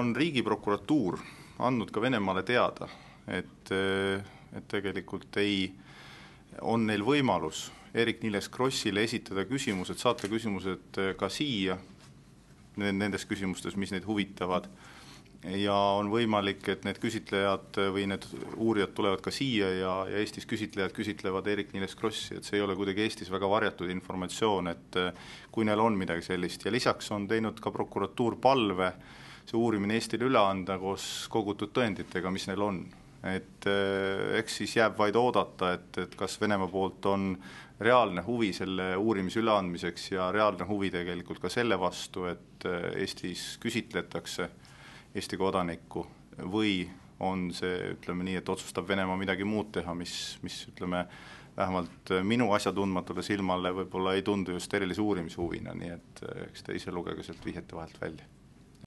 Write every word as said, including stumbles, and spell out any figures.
on riigiprokuratuur andnud ka Venemaale teada, et, et tegelikult ei, on neil võimalus Eerik-Niiles Krossile esitada küsimused, saata küsimused ka siia, nendes küsimustes, mis neid huvitavad, ja on võimalik, et need küsitlejad või need uurijad tulevad ka siia ja, ja Eestis küsitlejad küsitlevad Eerik-Niiles Krossi, et see ei ole kuidagi Eestis väga varjatud informatsioon, et kui neil on midagi sellist. Ja lisaks on teinud ka prokuratuur palve see uurimine Eestile üle anda koos kogutud tõenditega, mis neil on. Et eks siis jääb vaid oodata, et, et kas Venemaa poolt on reaalne huvi selle uurimise üleandmiseks ja reaalne huvi tegelikult ka selle vastu, et Eestis küsitletakse Eesti kodanikku või on see, ütleme nii, et otsustab Venemaa midagi muud teha, mis, mis ütleme, vähemalt minu asjatundmatule silmale võib-olla ei tundu just erilise uurimishuvina, nii et eks te ise lugege sealt vihjete vahelt välja.